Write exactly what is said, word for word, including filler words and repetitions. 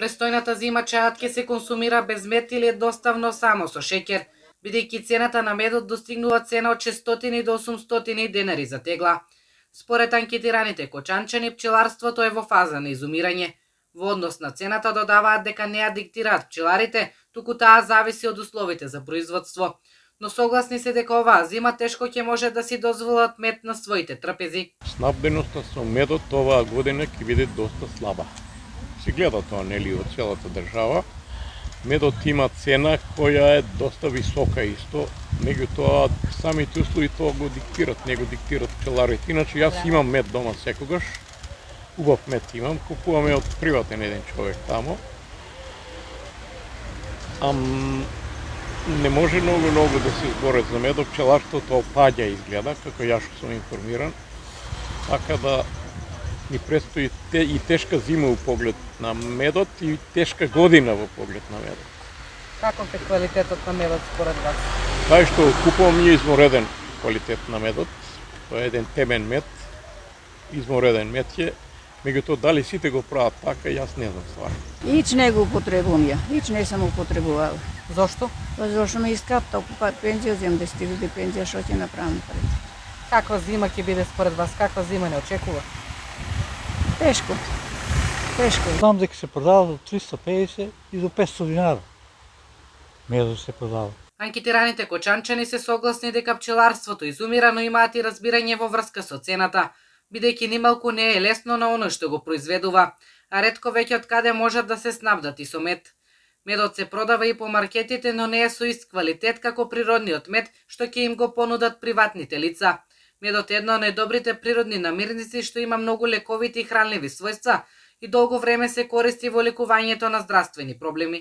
Престојната зима чајот ќе се консумира без мед или едноставно само со шеќер, бидејќи цената на медот достигнува цена од шестстотини до осумстотини денари за тегла. Според анкетираните кочанчани, пчеларството е во фаза на изумирање. Во однос на цената додаваат дека не ја диктираат пчеларите, туку таа зависи од условите за производство. Но согласни се дека оваа зима тешко ќе може да си дозволат мед на своите трпези. Снабденоста со медот оваа година ќе биде доста слаба. Се гледа тоа, нели, од целата држава. Медот има цена која е доста висока исто, меѓутоа самите услови тоа го диктират, не го диктират пчеларите. Иначе јас имам мед дома секогаш, убав мед имам, купуваме од приватен еден човек тамо. Ам не може многу-многу да се зборат за медот, пчеларството опаѓа изгледа, како јас што сум информиран. Така да ни престои те, и тешка зима во поглед на медот и тешка година во поглед на медот. Каков е квалитетот на медот според вас? Тај што купувам е измореден квалитет на медот. Тоа е еден темен мед, измореден мед е. Меѓутоа, дали сите го прават така, јас не знам стварно. Ич не го употребувам ја, ич не сам употребувала. Зошто? Па зашто ме искапта, па пензија земам, да стига до пензија, што ќе направам пред. Каква зима ќе биде според вас? Каква зима не очекува? Тешко. Тешко. Знам дека се продава од триста и педесет и до петстотини динара. Медот се продава. Анкетираните кочанчани се согласни дека пчеларството изумира, но имаат и разбирање во врска со цената, бидејќи нималку не е лесно на оној што го произведува, а ретко веќе од каде можат да се снабдат и со мед. Медот се продава и по маркетите, но не е со ист квалитет како природниот мед што ќе им го понудат приватните лица. Медот е една од најдобрите природни намирници што има многу лековити и хранливи својства и долго време се користи во лекувањето на здравствени проблеми.